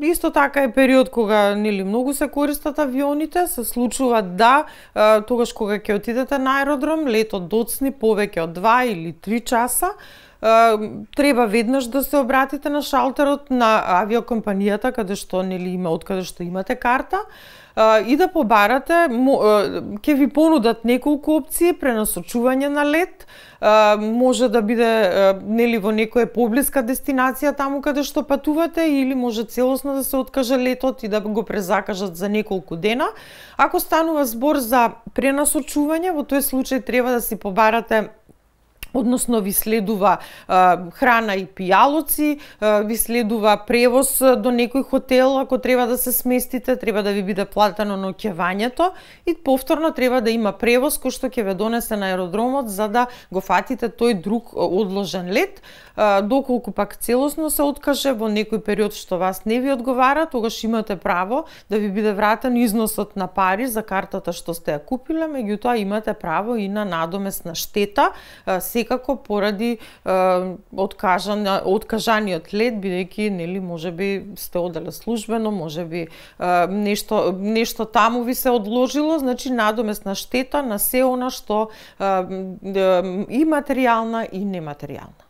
исто така е период кога нели многу се користат авионите, се случува да тогаш кога ќе отидете на аеродром, летот доцни повеќе од 2 или 3 часа, треба веднаш да се обратите на шалтерот на авиокомпанијата каде што нели има откаде што имате карта и да побарате, ќе ви понудат неколку опции, пренасочување на лет, може да биде нели во некоја поблиска дестинација таму каде што патувате или може целосно да се откаже летот и да го презакажат за неколку дена. Ако станува збор за пренасочување, во тој случај треба да си побарате, односно ви следува храна и пијалоци, ви следува превоз до некој хотел, ако треба да се сместите, треба да ви биде платено ноќевањето и повторно треба да има превоз кој што ќе ве донесе на аеродромот за да го фатите тој друг одложен лет. Доколку пак целосно се откаже во некој период што вас не ви одговара, тогаш имате право да ви биде вратен износот на пари за картата што сте ја купиле, меѓутоа имате право и на надомесна штета, секако поради откажаниот лет, бидејќи нели можеби сте оделе службено, можеби нешто таму ви се одложило, значи надомесна штета на се она што и материјална и нематеријална.